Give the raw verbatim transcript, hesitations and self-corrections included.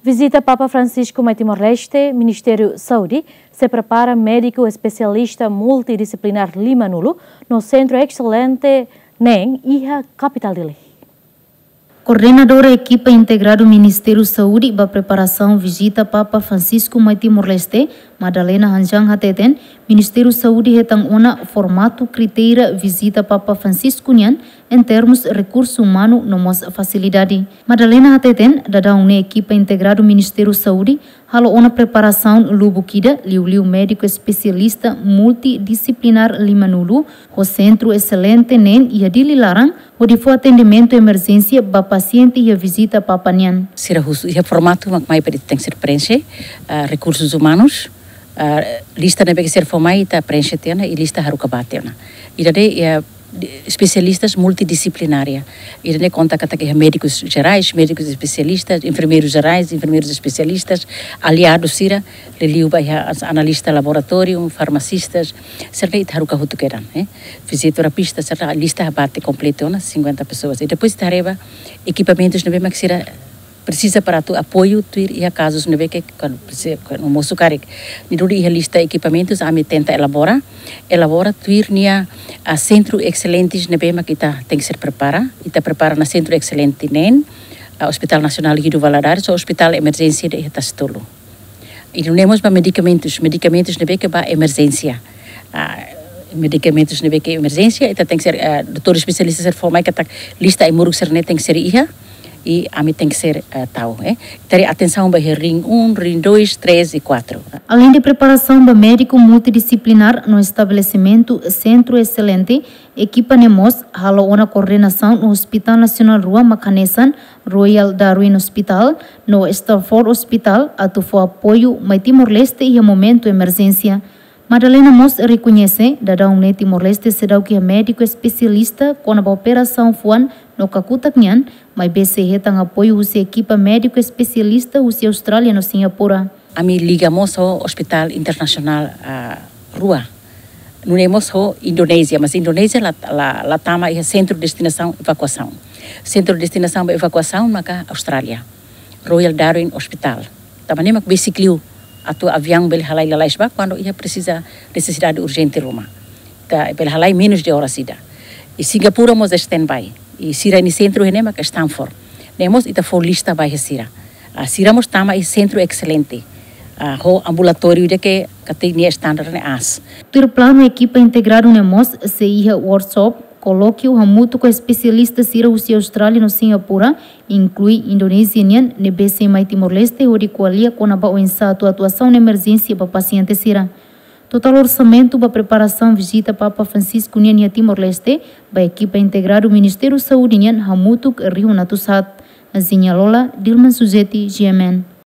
Vizita Papa Francisco mai Timor-Leste, Ministériu Saúde sei prepara médiku espesialista multidisiplinár lima-nulu no Sentru Exselente neen iha kapitál Dili. Koordenadora ekipa integradu Ministériu Saúde ba preparasaun vizita Papa Francisco mai Timor-Leste, Madalena Hanjang hateten, Ministériu Saúde hetan ona formatu kritéria vizita Papa Francisco nian, em termos rekursu umanu no mós fasilidade. Madalena hateten, daudaun ne'e ekipa integradu Ministériu Saúde halo ona preparasaun lubuk ida, liuliu médiku espesialista multidisiplinár lima-nulu, ho Sentru Exselente neen iha Dili laran, hodi fó atendimentu emerjénsia ba pasiente iha vizita Papa nian. Sira husu iha formatu mak mai para tenke ser preenxe, ah, rekursus umanus, ah, lista ne'ebé ke sira fó mai ita preenxe tiha ona, i lista haruka ba tiha ona. Ida-ne'e iha di-, espesialistas multidisciplinária. Ida-ne'e konta katak iha médikus jerais, médikus espesialistas, enfermeirus jerais, enfermeirus espesialistas, aliadu sira, liuliu ba iha as-, analista laboratóriu, farmasistas, sira-ne'e ita haruka hotu kedan, eh. Fizioterapista, sira lista bate kompletu ona cinquenta pessoas. I depois ita haree ba ekipamentus ne'ebé mak sira presiza para atu apoiu tuir iha kazus ne'ebé ke kuandu presi-, kuandu mosu karik. Ne'e duni iha lista ekipamentus ami tenta elabora, elabora tuir nia, ah, sentru exselentes ne'ebé mak ita tenke ser prepara, ita prepara ona Sentru Exselente neen, ah, Hospital Nasionál Guido Valadares, ho Hospital Emerjénsia de iha Tasi Tolu. I nune'e mós ba medikamentus, medikamentus ne'ebé ke ba emerjénsia. Ah, medikamentus ne'ebé ke emerjénsia, ita tenke ser, ah, doutór espesialista sira fó mai katak lista ai-moruk sira-ne'e tenke ser iha, i ami tenke ser, eh, tau, eh. Ita haree atensaun ba iha ring um, ring dois, três e quatro. Além de preparasaun ba médiku multidisiplinár no estabelesimentu Sentru Exselente, ekipa ne'e mós halo ona koordenasaun no Hospital Nasionál rua mak hanesan Royal Darwin Hospital no Stafford Hospital atu fó apoiu mai Timor-Leste iha momentu emerjénsia. Madalena mós rekoñese, daudaun ne'e Timor-Leste seidauk iha médiku espesialista kona-ba operasaun fuan no kakutak nian, maibé sei hetan apoiu husi ekipa médiku espesialista husi Austrália no Singapura. Ami liga mós ho Hospital Internasionál, ah, rua. Nune'e mós ho Indonézia, mas Indonézia la, la, la tama iha sentru destinasaun evakuasaun. Sentru destinasaun ba evakuasaun maka Austrália. Royal Darwin Hospital. Tanba ne'e mak besik liu atu aviaun bele halai lalais ba kuandu iha presiza nesesidade urjente ruma. Ita bele halai menus de oras ida. I Singapura mós standby. I sira-nia sentru iha ne'e mak Stafford. Ne'e mós ita fó lista ba iha sira. Ah, sira mós tama iha Sentru Exselente. Ah, ho ambulatóriu ida ke katak nia standar ne'e aas. Tuir planu ekipa integradu ne'e mós sei iha workshop, kolókiu hamutuk ho espesialista sira husi Austrália no Singapura, inklui Indonézia nian, ne'ebé sei mai Timor-Leste hodi ko'alia kona-ba oinsá atu atuasaun emerjénsia ba pasiente sira. Totál orsamentu ba preparasaun vizita Papa Francisco nian iha Timor-Leste, ba ekipa integradu Ministériu Saúde nian hamutuk rihun atus haat. Nazinha Lola, Dilman Suzeti, G M N.